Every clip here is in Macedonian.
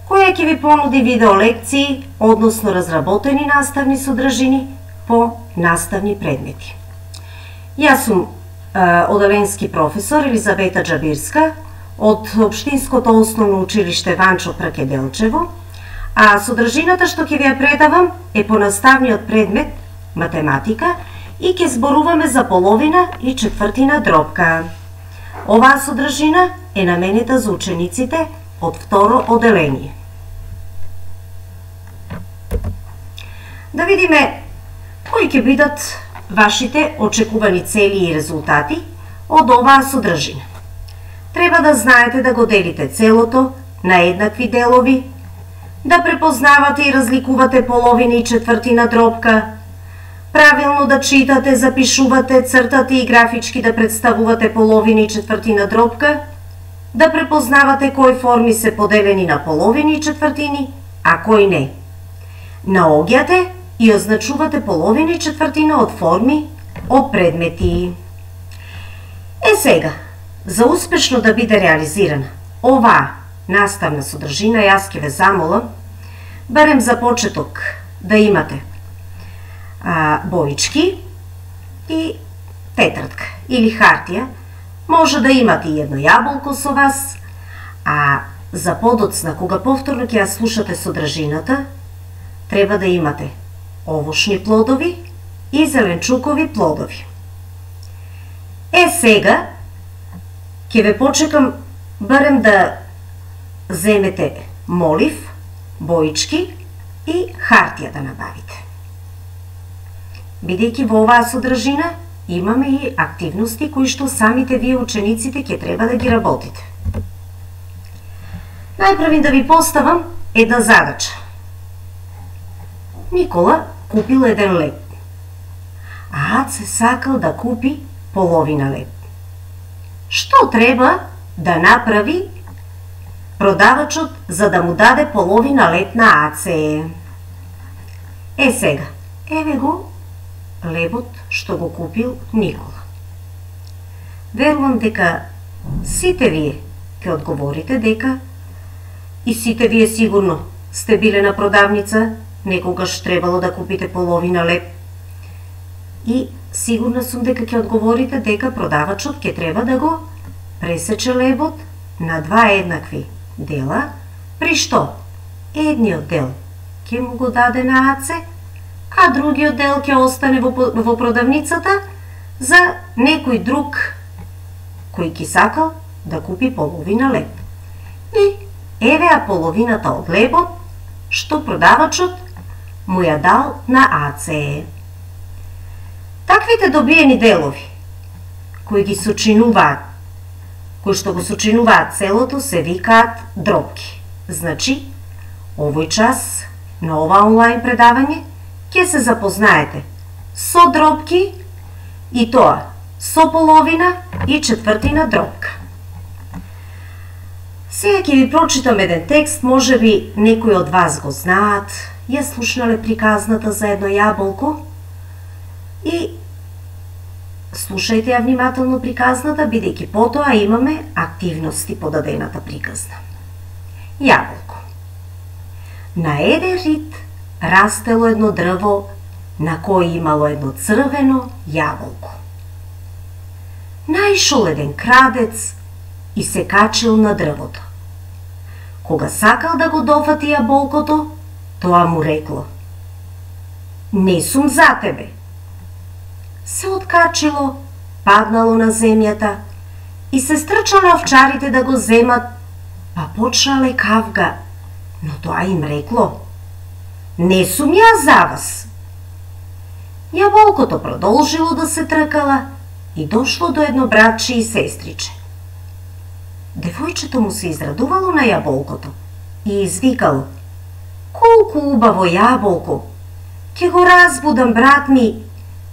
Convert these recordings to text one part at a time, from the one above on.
која ќе ви понуди видео лекции, односно разработени наставни содржини по наставни предмети. Јас сум оделенски професор Елизавета Джабирска од Општинското основно училиште Ванчо Пракеделчево, а содржината што ќе ви ја предавам е по наставниот предмет математика и ќе зборуваме за половина и четвртина дробка. Оваа содржина е наменета за учениците од второ оделение. Да видиме кои ќе бидат вашите очекувани цели и резултати од оваа содржина. Треба да знаете да го делите целото на еднакви делови, да препознавате и разликувате половина и четвртина дробка, правилно да читате, запишувате, цртате и графички да представувате половина и четвртина дробка, да препознавате кои форми се поделени на половини и четвртини, а кои не. Наоѓате и означувате половина и четвртина од форми, од предмети. Сега, за успешно да биде реализирана оваа наставна содржина, јас ќе ве замолам, барем за почеток да имате боички и тетрадка или хартија, може да имате и едно јаболко со вас, а за подоцна, кога повторно ќе ја слушате содржината, треба да имате овошни плодови и зеленчукови плодови. Сега ќе ве почекам барем да земете молив, боички и хартија да набавите. Бидејќи во оваа содржина имаме и активности кои што самите вие учениците ќе треба да ги работите. Најпрвин да ви поставам една задача. Никола купил еден леб, а Аце сакал да купи половина леб. Што треба да направи продавачот за да му даде половина леб на Аце? Сега, еве го лебот што го купил Никола. Верувам дека сите вие ќе одговорите дека и сите вие сигурно сте биле на продавница, некогаш требало да купите половина леб. И сигурна сум дека ќе одговорите дека продавачот ќе треба да го пресече лебот на два еднакви дела, при што едниот дел ќе му го даде на Аце, а другиот дел ќе остане во продавницата за некој друг кој ќе сакал да купи половина леб. И евеа половината од лебот што продавачот му ја дал на Аце. Таквите добиени делови кои ги сочинуваат, кои што го сочинуваат целото, се викаат дробки. Значи, овој час на ова онлайн предавање ќе се запознаете со дробки и тоа со половина и четвртина дробка. Сега ќе ви прочитам еден текст, може би некои од вас го знаат, ја слушнале приказната за едно јаболко и слушајте ја внимателно приказната, бидејќи потоа имаме активности по дадената приказна. Јаболко. На еден рид растело едно дрво на кој имало едно црвено јаболко. Наишол еден крадец и се качил на дрвото. Кога сакал да го дофати јаболкото, тоа му рекло: "Не сум за тебе." Се откачило, паднало на земјата и се стрчале овчарите да го земат, па почнале кавга, но тоа им рекло: "Не сум ја за вас." Јаболкото продолжило да се тркала и дошло до едно братче и сестриче. Девојчето му се израдувало на јаболкото и извикало: "Колку убаво јаболко! Ќе го разбудам, брат ми,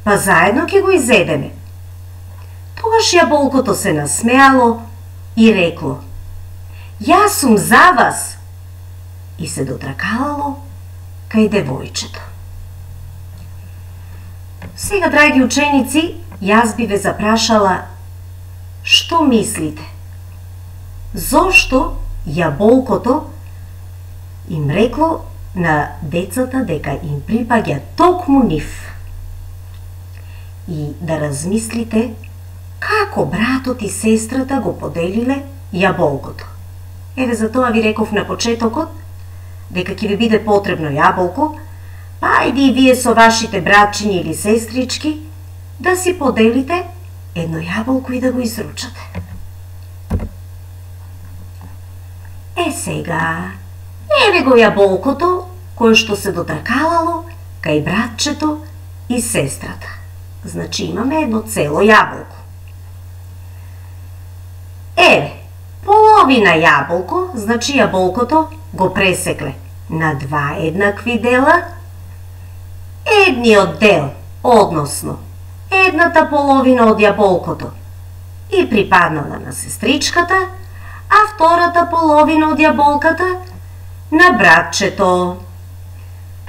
па заедно ќе го изедеме." Тогаш јаболкото се насмеало и рекло: "Јас сум за вас!" и се дотркалало кај девојчето. Сега, драги ученици, јас би ве запрашала, што мислите? Зошто јаболкото им рекло на децата дека им припаѓа токму нив. И да размислите како братот и сестрата го поделиле јаболкото. Еве за тоа ви реков на почетокот дека ќе ви биде потребно јаболко, па ајде и вие со вашите братчињи или сестрички да си поделите едно јаболко и да го изручате. Сега, еве го јаболкото кое што се дотркалало кај братчето и сестрата. Значи имаме едно цело јаболко. Еве, половина јаболко, значи јаболкото го пресекле на два еднакви дела. Едниот дел, односно едната половина од јаболкото и припаднала на сестричката, а втората половина од јаболката на братчето.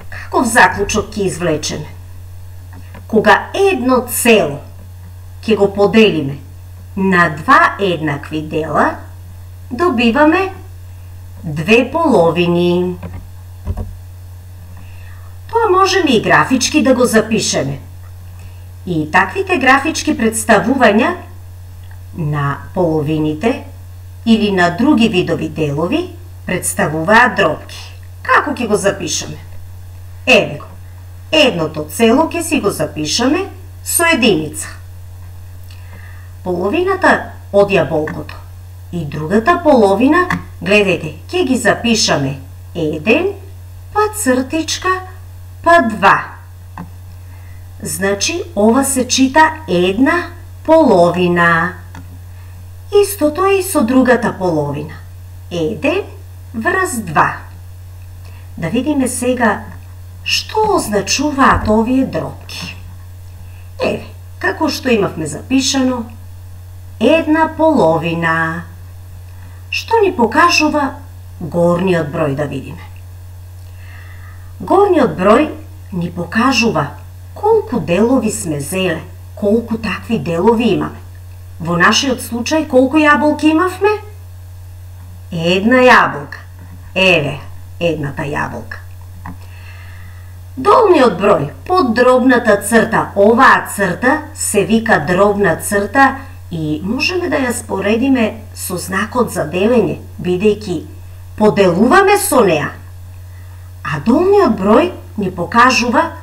Каков заклучок ќе извлечеме? Кога едно цело ќе го поделиме на два еднакви дела, добиваме две половини. Тоа можеме и графички да го запишеме. И таквите графички представувања на половините или на други видови делови представуваат дробки. Како ќе го запишеме? Еве го. Едното цело ќе си го запишеме со единица. Половината од јаболкото и другата половина, гледајте, ќе ги запишаме 1, па цртичка, па 2. Значи, ова се чита една половина. Истото е и со другата половина. 1 врз 2. Да видиме сега што означуваат овие дробки. Еве, како што имавме запишано, една половина. Што ни покажува горниот број, да видиме. Горниот број ни покажува колку делови сме зеле, колку такви делови имаме. Во нашиот случај колку јаболки имавме? Една јаболка. Еве, едната јаболка. Долниот број, под дробната црта, оваа црта се вика дробна црта и можеме да ја споредиме со знакот за делење, бидејќи поделуваме со неа. А долниот број ни покажува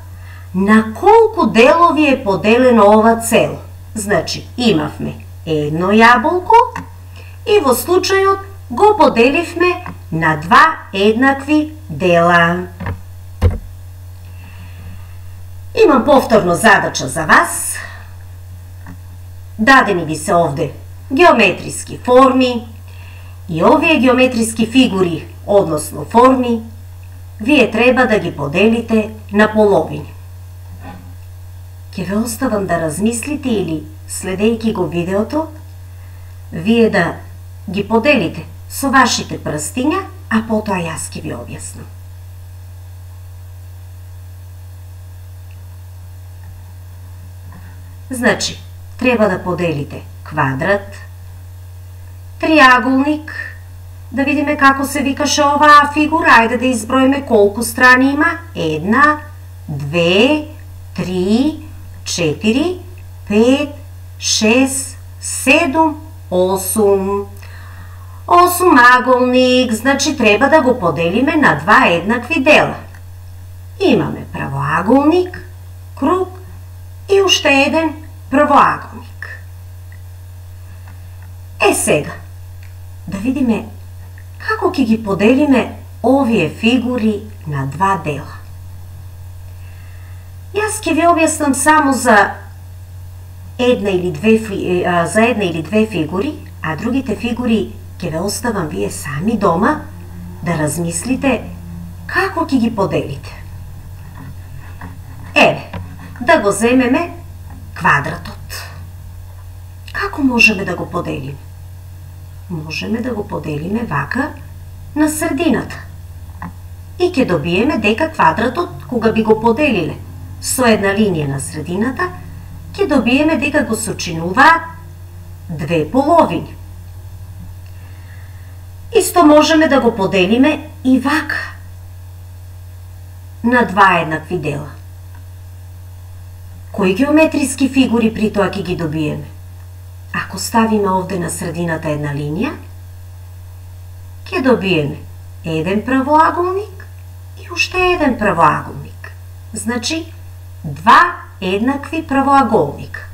на колку делови е поделено ова цело. Значи, имавме едно јаболко и во случајот го поделивме на два еднакви дела. Имам повторно задача за вас. Дадени ви се овде геометриски форми и овие геометриски фигури, односно форми, вие треба да ги поделите на половини. Ќе ве оставам да размислите или, следејќи го видеото, вие да ги поделите со вашите прстиња, а потоа јас ќе ви објаснам. Значи, треба да поделите квадрат, триаголник, да видиме како се викаше оваа фигура, ајде да изброиме колку страни има. 1, 2, 3, 4, 5, 6, 7, 8. Осумаголник, значи треба да го поделиме на два еднакви дела. Имаме правоаголник, круг и уште еден правоаголник. Сега, да видиме како ќе ги поделиме овие фигури на два дела. Јас ќе ви објаснам само за една или две фигури, а другите фигури ќе ве оставам вие сами дома да размислите како ќе ги поделите. Еве, да го земеме квадратот. Како можеме да го поделиме? Можеме да го поделиме вака на средината. И ќе добиеме дека квадратот, кога би го поделиле со една линија на средината, ќе добиеме дека го сочинуваат две половини. Исто можеме да го поделиме и вака на два еднакви дела? Кои геометриски фигури при тоа ќе ги добиеме? Ако ставиме овде на средината една линија, ќе добиеме еден правоаголник и уште еден правоаголник. Значи, два еднакви правоаголника.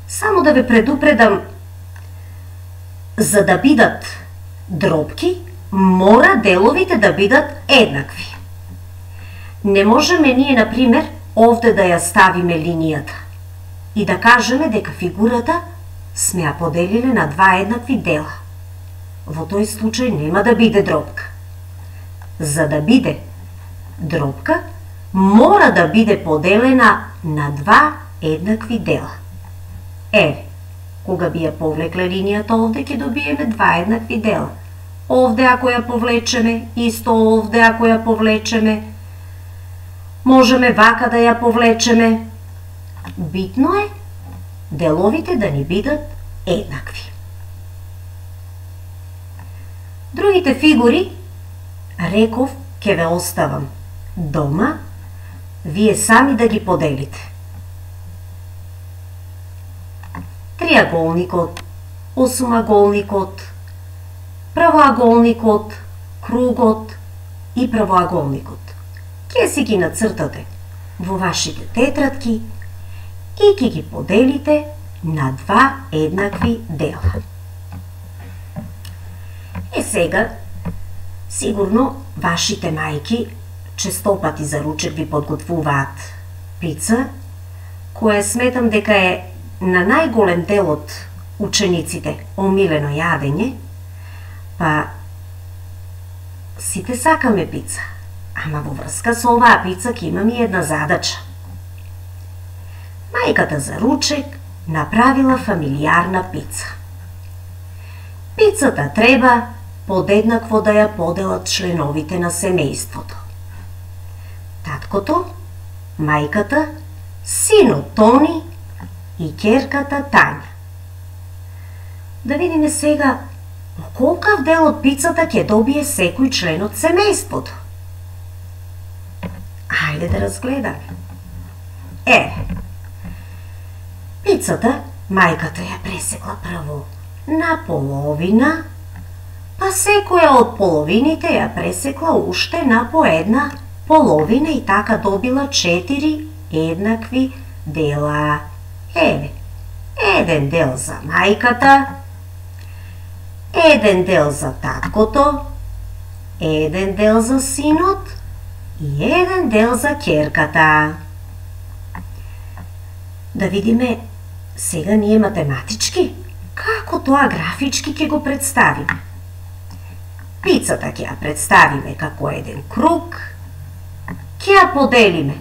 Само да ве предупредам, за да бидат дробки, мора деловите да бидат еднакви. Не можеме ние, например, овде да ја ставиме линијата и да кажеме дека фигурата сме ја поделиле на два еднакви дела. Во тој случај нема да биде дробка. За да биде дробка, мора да биде поделена на два еднакви дела. Еве, кога би ја повлекле линијата овде, ќе добиеме два еднакви дела. Овде ако ја повлечеме, исто овде ако ја повлечеме, можеме вака да ја повлечеме. Битно е деловите да ни бидат еднакви. Другите фигури, реков, ќе ве оставам дома, вие сами да ги поделите. Триаголникот, осумаголникот, правоаголникот, кругот и правоаголникот. Ке си ги нацртате во вашите тетрадки и ќе ги поделите на два еднакви дела. Сега, сигурно вашите мајки честопати за ручек ви подготвуваат пица, која сметам дека е на најголем дел од учениците омилено јадење, па сите сакаме пица. Ама во врска со оваа пица ќе имам и една задача. Мајката за ручек направила фамилиарна пица. Пицата треба подеднакво да ја поделат членовите на семејството. Таткото, мајката, синот Тони и ќерката Тања. Да видиме сега колкав дел од пицата ќе добие секој член од семејството. Ајде да разгледаме. Пицата мајката ја пресекла прво на половина, па секоја од половините ја пресекла уште на по една половина и така добила 4 еднакви дела. Еден дел за мајката, еден дел за таткото, еден дел за синот и еден дел за ќерката. Да видиме сега ние математички како тоа графички ќе го представиме. Пицата ќе ја представиме како еден круг, ќе ја поделиме.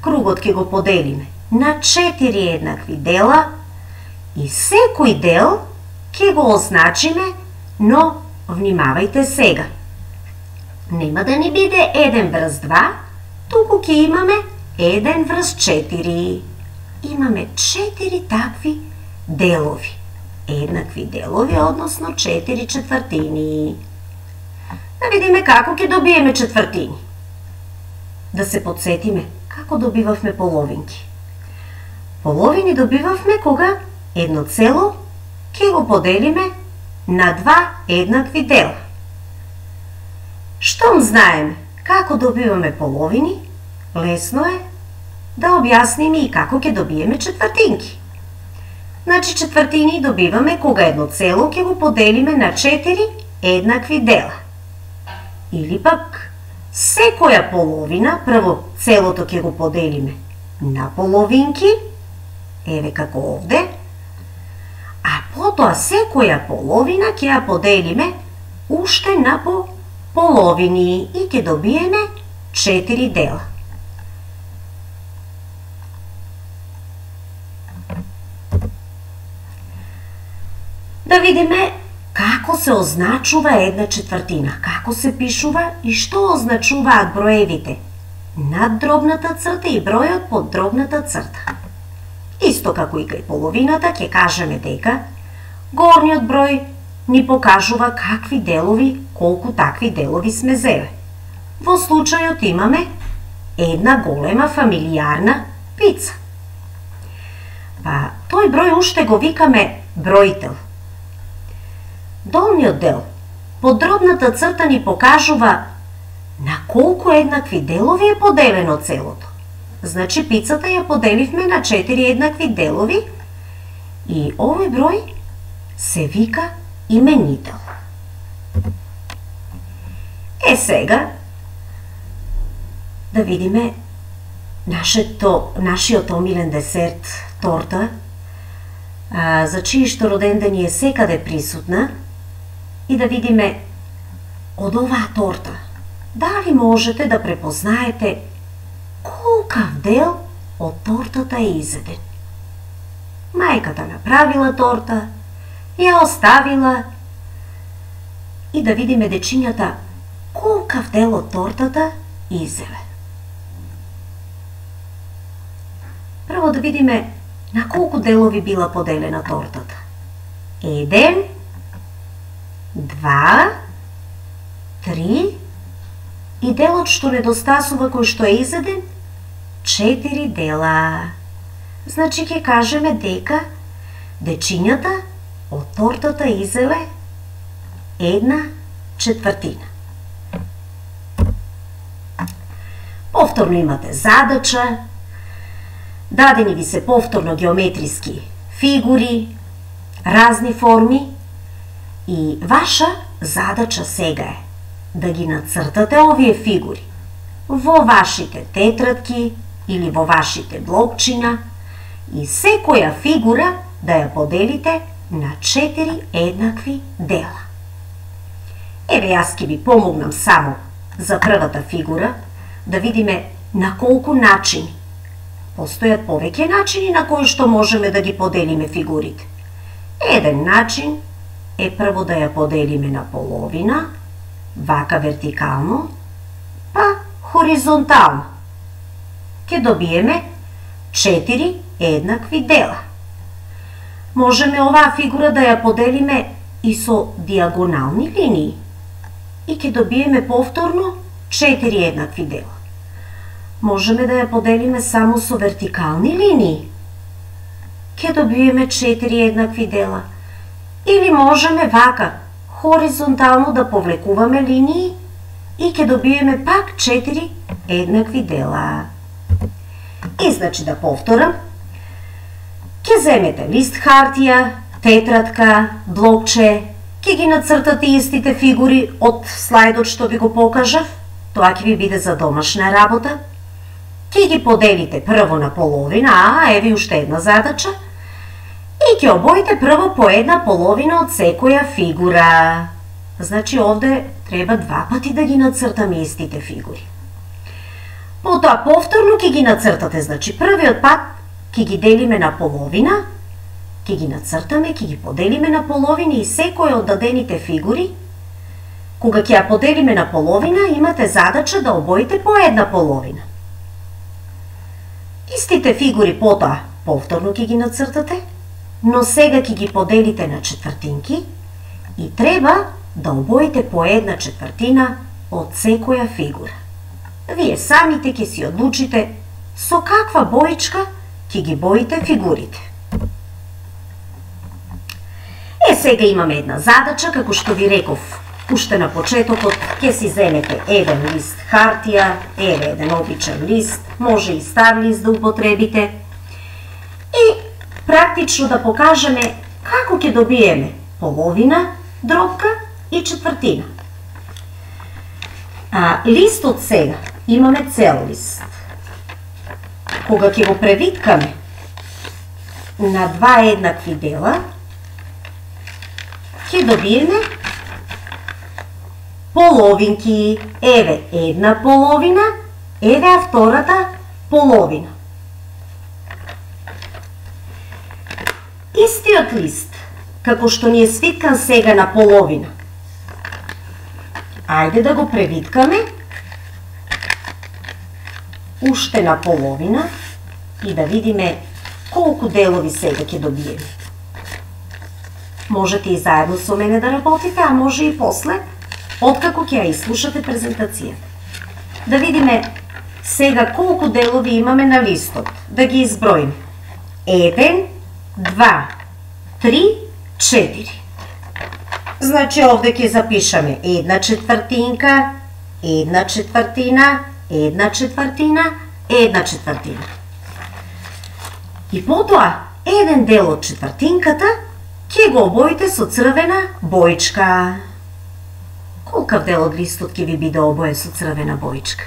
Кругот ќе го поделиме на 4 еднакви дела и секој дел ќе го означиме, но внимавајте сега. Нема да ни биде 1 врз 2, туку ќе имаме 1 врз 4. Имаме 4 такви делови. Еднакви делови, односно 4 четвртини. Да видиме како ќе добиеме четвртини. Да се подсетиме како добивавме половинки. Половини добивавме кога едно цело ќе го поделиме на два еднакви дела. Штом знаеме како добиваме половини, лесно е да објасниме и како ќе добиеме четвртинки. Значи четвртини добиваме кога едно цело ќе го поделиме на 4 еднакви дела. Или пак секоја половина, прво целото ќе го поделиме на половинки, еве како овде, а потоа секоја половина ќе ја поделиме уште на по половини и ќе добиеме 4 дела. Да видиме како се означува една четвртина, како се пишува и што означуваат броевите над дробната црта и бројот под дробната црта. Исто како и кај половината ќе кажеме дека горниот број ни покажува какви делови, колку такви делови сме зеле. Во случајот имаме една голема фамилијарна пица. Па, тој број уште го викаме бројтел. Долниот дел, подробната црта ни покажува на колку еднакви делови е поделено целото. Значи, пицата ја поделивме на 4 еднакви делови и овој број се вика именител. Сега, да видиме нашиот омилен десерт, торта, за чијшто роденден е секаде присутна, и да видиме од оваа торта дали можете да препознаете колкав дел од тортата е изеден. Мајката направила торта, ја оставила и да видиме дечињата колкав дел од тортата изеле. Прво да видиме на колку делови била поделена тортата. 1, 2, 3 и делот што недостасува кој што е изеден 4 дела. Значи ќе кажеме дека дечињата од тортата изеле 1/4. Повторно имате задача, дадени ви се повторно геометриски фигури, разни форми и ваша задача сега е да ги нацртате овие фигури во вашите тетрадки или во вашите блокчиња и секоја фигура да ја поделите на 4 еднакви дела. Еве, јас ќе ви помогнам само за првата фигура да видиме на колку начини. Постојат повеќе начини на кои што можеме да ги поделиме фигурите. Еден начин е прво да ја поделиме на половина, вака вертикално, па хоризонтално. Ке добиеме 4 еднакви дела. Можеме оваа фигура да ја поделиме и со диагонални линии и ке добиеме повторно 4 еднакви дела. Можеме да ја поделиме само со вертикални линии. Ке добиеме 4 еднакви дела. Или можеме вака, хоризонтално да повлекуваме линии и ке добиеме пак 4 еднакви дела. И значи да повторам, ке земете лист хартија, тетрадка, блокче, ке ги нацртате истите фигури од слайдот што ви го покажав, тоа ќе ви биде за домашна работа. Ке ги поделите прво на половина, еви уште една задача, и ќе обоите прво по една половина од секоја фигура. Значи овде треба 2 пати да ги нацртаме истите фигури. Потоа повторно ќе ги нацртате, значи првиот пат ќе ги делиме на половина, ќе ги нацртаме, ќе ги поделиме на половини и секоја од дадените фигури, кога ќе ја поделиме на половина, имате задача да обоите по една половина. Истите фигури потоа повторно ќе ги нацртате, но сега ќе ги поделите на четвртинки и треба да обоите по една четвртина од секоја фигура. Вие самите ќе си одлучите со каква боичка ќе ги боите фигурите. Сега имаме една задача, како што ви реков уште на почетокот, ќе си земете еден лист хартија, еден обичен лист, може и стар лист да употребите, и практично да покажеме како ќе добиеме половина, дробка и четвртина. Листот сега имаме цел лист. Кога ќе го превиткаме на 2 еднакви дела, ќе добиеме половинки. Еве една половина, еве втората половина. Истиот лист, како што ни е свиткан сега на половина, ајде да го превиткаме уште на половина и да видиме колку делови сега ќе добиеме. Можете и заедно со мене да работите, а може и после, откако ќе ја изслушате презентацијата. Да видиме сега колку делови имаме на листот. Да ги изброим. 1, 2, 3, 4. Значи овде ќе запишаме 1/4, 1/4, 1/4, 1/4. И потоа, еден дел од четвртинката ќе го обоите со црвена боичка. Колкав дел од листот ќе ви биде обоен со црвена боичка?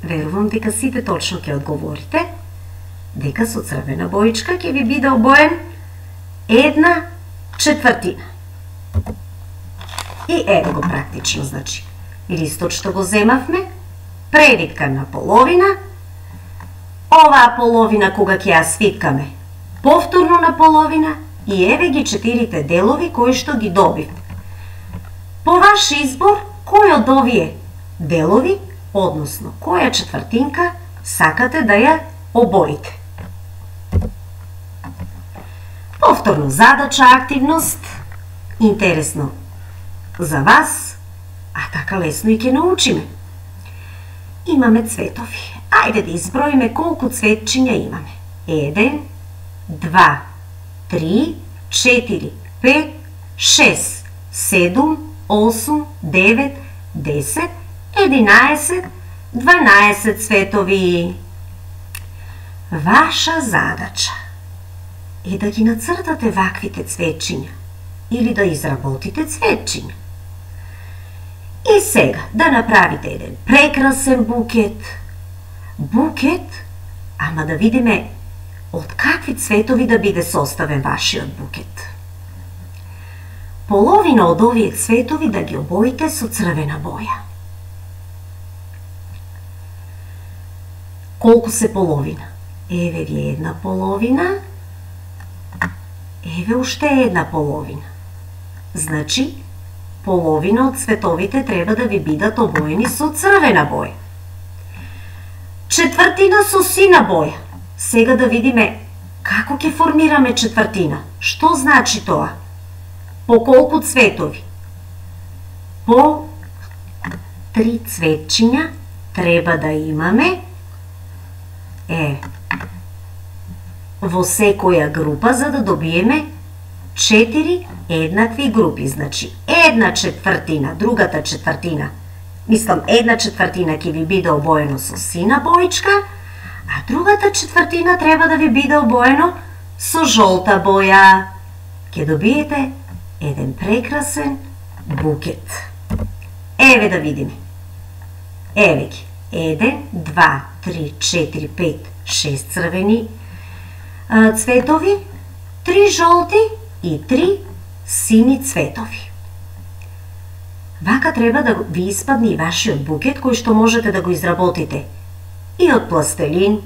Верувам дека сите точно ќе одговорите дека со црвена боичка ќе ви биде обоен 1/4. И еве го практично, значи. Листот што го земавме, превиткан на половина, оваа половина кога ќе ја свиткаме, повторно на половина и еве ги 4 делови кои што ги добивме. По ваш избор, кој од овие делови, односно која четвртинка, сакате да ја обоите. Повторно задача, активност, интересно за вас, а така лесно и ќе научиме. Имаме цветови. Ајде да изброиме колку цветчиња имаме. 1, 2, 3, 4, 5, 6, 7, 8, 9, 10, 11, 12 цветови. Ваша задача е да ги нацртате ваквите цветчиња или да изработите цветчиња. И сега да направите еден прекрасен букет. Букет, ама да видиме од какви цветови да биде составен вашиот букет. Половина од овие цветови да ги обоите со црвена боја. Колку се половина? Еве ви една половина, еве уште една половина. Значи, половина од цветовите треба да ви бидат обоени со црвена боја. Четвртина со сина боја. Сега да видиме како ќе формираме четвртина. Што значи тоа? По колку цветови? По 3 цветчиња треба да имаме во секоја група, за да добиеме 4 еднакви групи. Значи, 1/4, другата четвртина, мислам 1/4 ќе ви биде обоено со сина боичка, а другата четвртина треба да ви биде обоено со жолта боја. Ќе добиете еден прекрасен букет. Еве да видиме. Еве ги. 1, 2, 3, 4, 5, 6 црвени цветови, 3 жолти и 3 сини цветови. Вака треба да ви испадне и вашиот букет, кој што можете да го изработите и од пластелин,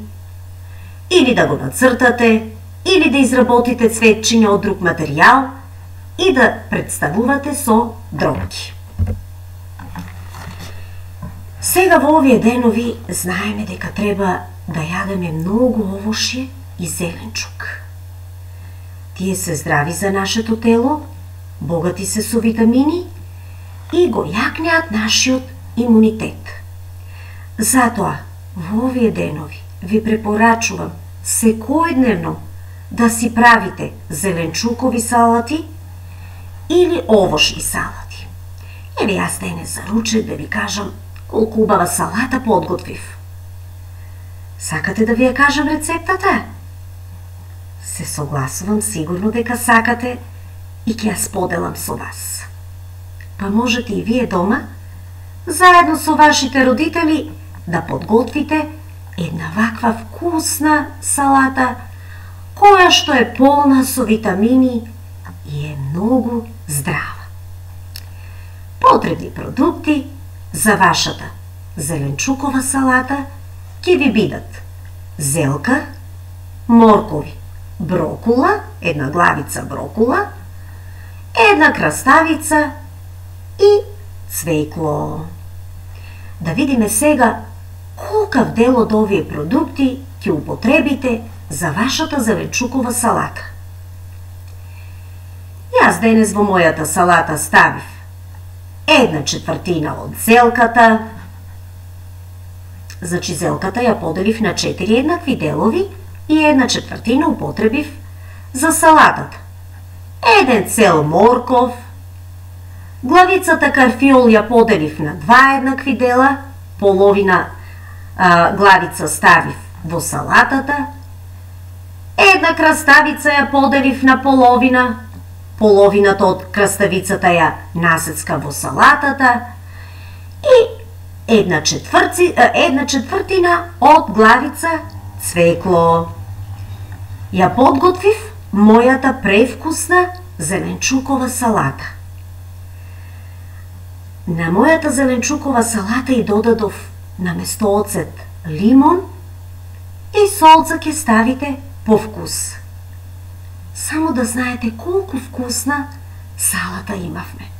или да го нацртате, или да изработите цветчиња од друг материјал и да представувате со дробки. Сега во овие денови знаеме дека треба да јадеме многу овошје и зеленчук. Тие се здрави за нашето тело, богати се со витамини и го јакнеат нашиот имунитет. Затоа, во овие денови ви препорачувам секојдневно да си правите зеленчукови салати или овошни салати. Еве јас денес за ручек да ви кажам колку убава салата подготвив. Сакате да ви ја кажам рецептата? Се согласувам, сигурно дека сакате и ќе ја споделам со вас. Па можете и вие дома, заедно со вашите родители, да подготвите една ваква вкусна салата, која што е полна со витамини и е многу здрава. Потребни продукти за вашата зеленчукова салата ќе ви бидат зелкар, моркови, брокула, една главица брокула, една краставица и цвекло. Да видиме сега колкав дел од овие продукти ќе употребите за вашата зеленчукова салата. Јас денес во мојата салата ставив 1/4 од зелката. Значи зелката ја поделив на 4 еднакви делови и 1/4 употребив за салатата. 1 цел морков. Главицата карфиол ја поделив на 2 еднакви дела, половина главица ставив во салатата. 1 краставица ја поделив на половина, половината од краставицата ја насецка во салатата и 1/4 од главица цвекло. Ја подготвив мојата превкусна зеленчукова салата. На мојата зеленчукова салата и додадов наместо оцет лимон и солца ќе ставите по вкус. Само да знаете колку вкусна салата имавме.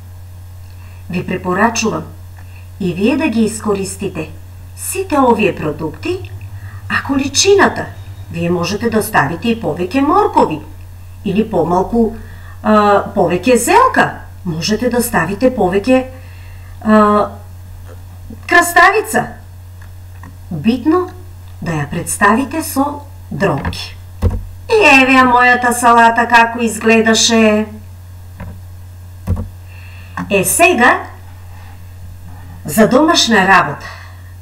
Ви препорачувам и вие да ги искористите сите овие продукти, а количината вие можете да ставите и повеќе моркови или помалку повеќе зелка, можете да ставите повеќе краставица. Битно да ја представите со дромки. И еве ја мојата салата како изгледаше. Сега, за домашна работа,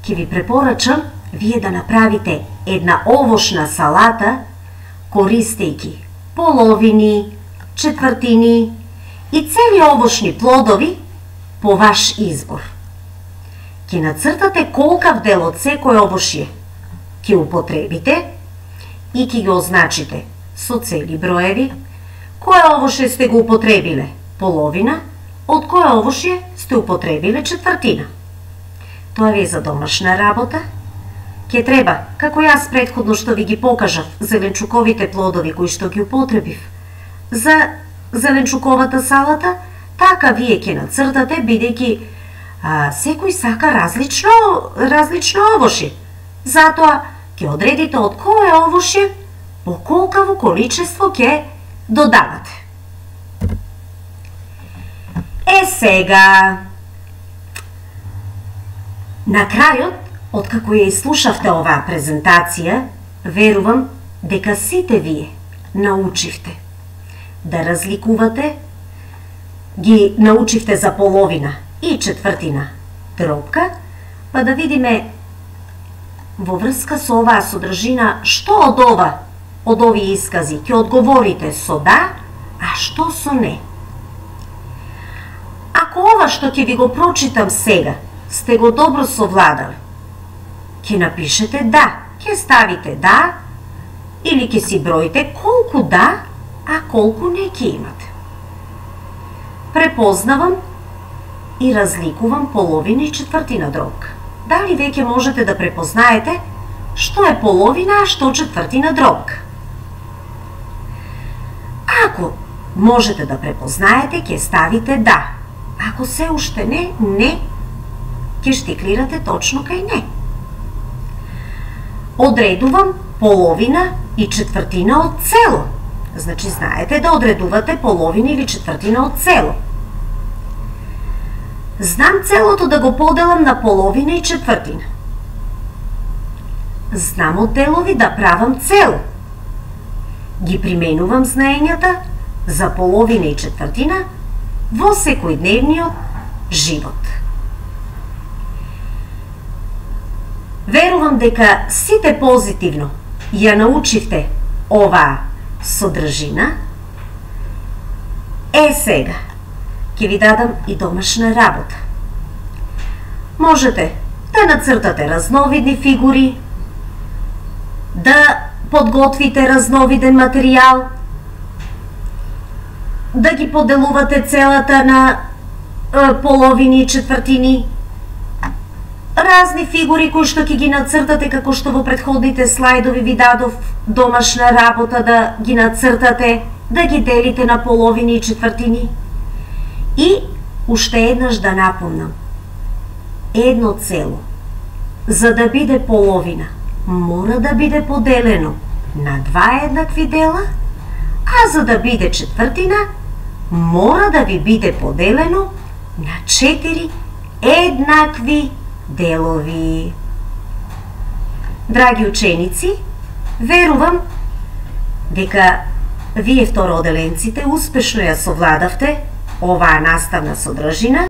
ќе ви препорачам вие да направите една овошна салата, користејќи половини, четвртини и цели овошни плодови по ваш избор. Ќе нацртате колкав дел од секој овошје ќе употребите и ќе ги означите со цели броеви кое овошје сте го употребиле половина, од кое овошје сте употребиле четвртина. Тоа ви е за домашна работа. Ќе треба, како јас претходно што ви ги покажав, зеленчуковите плодови кои што ги употребив за зеленчуковата салата, така вие ќе нацртате, бидејќи секој сака различно овошје. Затоа ќе одредите од кое овошје по колкаво количество ќе додавате. Сега, на крајот, откако ја изслушавте оваа презентација, верувам дека сите вие научивте да разликувате, ги научивте за половина и четвртина дробка, па да видиме во врска со оваа содржина што од овие искази ќе одговорите со да, а што со не. Ако ова што ќе ви го прочитам сега сте го добро совладали, ќе напишете да, ќе ставите да или ќе си броите колку да, а колку не ќе имате. Препознавам и разликувам половина и четвртина дробка. Дали веќе можете да препознаете што е половина, а што четвртина дробка? Ако можете да препознаете, ќе ставите да. Ако се уште не, ќе штиклирате точно кај не. Одредувам половина и четвртина од цело. Значи, знаете да одредувате половина или четвртина од цело. Знам целото да го поделам на половина и четвртина. Знам од делови да правам цело. Ги применувам знаењата за половина и четвртина во секојдневниот живот. Верувам дека сите позитивно ја научивте оваа содржина. Сега ќе ви дадам и домашна работа. Можете да нацртате разновидни фигури, да подготвите разновиден материјал, да ги поделувате целата на половини и четвртини, разни фигури кои што ќе ги нацртате, како што во претходните слайдови ви дадов домашна работа да ги нацртате, да ги делите на половини и четвртини. И уште еднаш да напомнам, едно цело, за да биде половина, мора да биде поделено на два еднакви дела, а за да биде четвртина, мора да ви биде поделено на 4 еднакви делови. Драги ученици, верувам дека вие второоделенците успешно ја совладавте оваа наставна содржина